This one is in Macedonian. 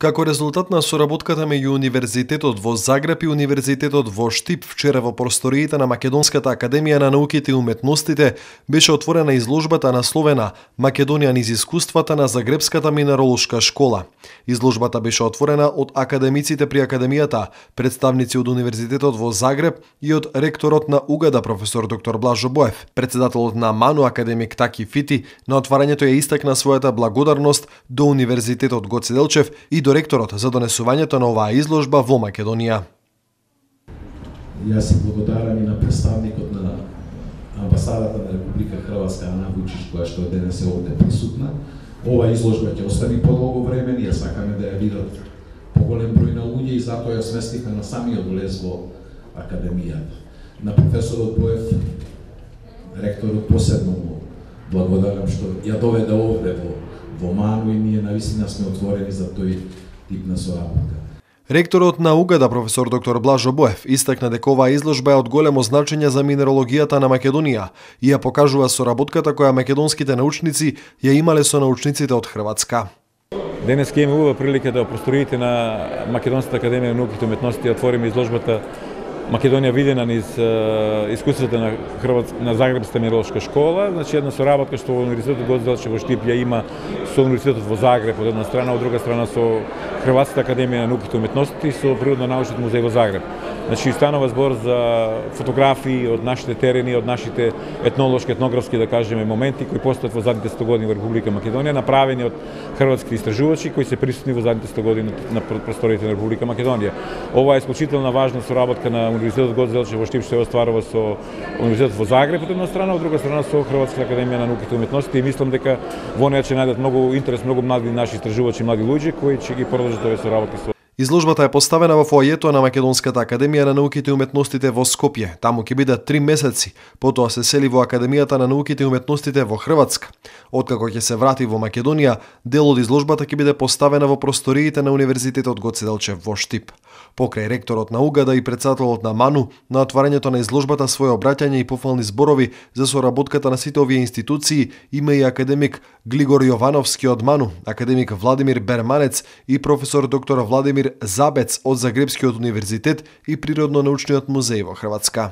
Како резултат на соработката меѓу Универзитетот во Загреб и Универзитетот во Штип, вчера во просториите на Македонската академија на науките и уметностите беше отворена изложбата насловена "Македонија низ искуствата на Загребската минеролошка школа". Изложбата беше отворена од академиците при академијата, представници од Универзитетот во Загреб и од ректорот на УГД професор доктор Блажо Боев. Председателот на МАНУ академик Таки Фити на отварањето ја истакна својата благодарност до Универзитетот Гоце Делчев и до ректорот за донесувањето на оваа изложба во Македонија. Јас се благодарам и на представникот на амбасадата на Република Хрватска Ана Вучич, која што денес е овде присутна. Ова изложба ќе остане подолго време, ние сакаме да ја видат поголем број на луѓе и затоа ја сместивме на самиот влез во академијата. На професорот Боев, ректорот, посебно му благодарам што ја доведе овде во МАНУ и ние навистина сме отворени за тој тип на соработка. Ректорот на УГД професор доктор Блажо Боев истакна дека оваа изложба е од големо значење за минерологијата на Македонија и ја покажува соработката која македонските научници ја имале со научниците од Хрватска. Денес ќе имаме убава прилика да просториите на Македонската академија на науките и уметностите отвориме изложбата Македонија видена низ искуствата на Загребската минеролошка школа, значи една соработка што Универзитетот Гоце Делчев во Штип ја има со Универзитетот во Загреб од една страна, од друга страна со Хрватската академија на науките и уметностите и со Природно-научниот музеј во Загреб. Значи станува збор за фотографии од нашите терени, од нашите етнолошки, етнографски да кажеме моменти кои постојат во задните 100 години во Република Македонија, направени од хрватски истражувачи кои се присутни во задните 100 години на просториите на Република Македонија. Ова е исклучителна важна соработка на Универзитетот Гоце Делчев во Штип што ја остварува со Универзитетот во Загреб од една страна, од друга страна со Хрватската академија на науките и уметностите и мислам дека во неја ќе најдат многу интерес, многу млади наши истражувачи, млади луѓе кои ќе ги продолжат овие соработки со. Изложбата е поставена во фоајето на Македонската академија на науките и уметностите во Скопје. Таму ќе бидат 3 месеци, потоа се сели во Академијата на науките и уметностите во Хрватска. Откако ќе се врати во Македонија, дел од изложбата ќе биде поставена во просториите на Универзитетот Гоце Делчев во Штип. Покрај ректорот на УГД и председателот на МАНУ, на отварањето на изложбата своје обраќање и пофални зборови за соработката на сите овие институции има и академик Глигор Јовановски од МАНУ, академик Владимир Берманец и професор доктор Владимир Забец од Загребскиот универзитет и Природно-научниот музеј во Хрватска.